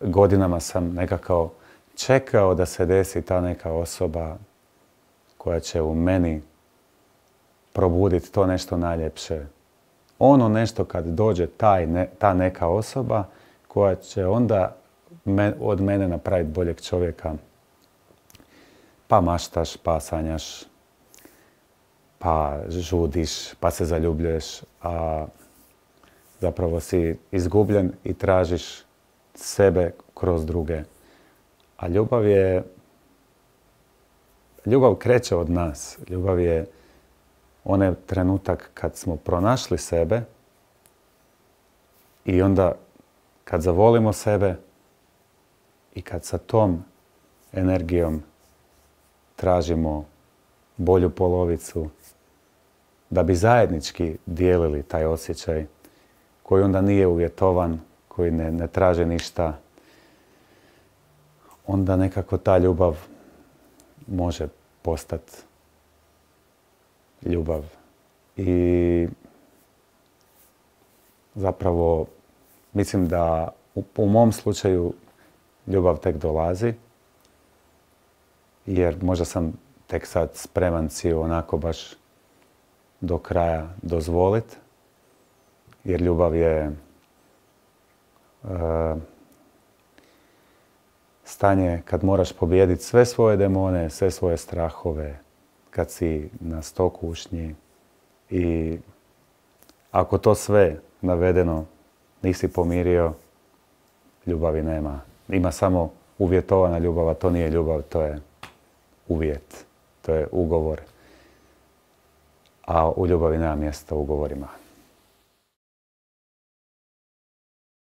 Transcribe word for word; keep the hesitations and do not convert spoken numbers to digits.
godinama sam nekako čekao da se desi ta neka osoba koja će u meni probuditi to nešto najljepše. Ono nešto kad dođe taj ne, ta neka osoba koja će onda me, od mene napraviti boljeg čovjeka. Pa maštaš, pa sanjaš, pa žudiš, pa se zaljubljuješ, a zapravo si izgubljen i tražiš sebe kroz druge. A ljubav je... Ljubav kreće od nas. Ljubav je onaj trenutak kad smo pronašli sebe i onda kad zavolimo sebe i kad sa tom energijom tražimo bolju polovicu da bi zajednički dijelili taj osjećaj koji onda nije uvjetovan, koji ne, ne traže ništa, onda nekako ta ljubav može postati ljubav. I zapravo mislim da u, u mom slučaju ljubav tek dolazi, jer možda sam tek sad spreman si onako baš do kraja dozvoliti, jer ljubav je uh, stanje kad moraš pobijediti sve svoje demone, sve svoje strahove, kad si na sto kušnji i ako to sve navedeno nisi pomirio, ljubavi nema. Ima samo uvjetovana ljubav, a to nije ljubav, to je uvjet, to je ugovor. A u ljubavi nema mjesta ugovorima.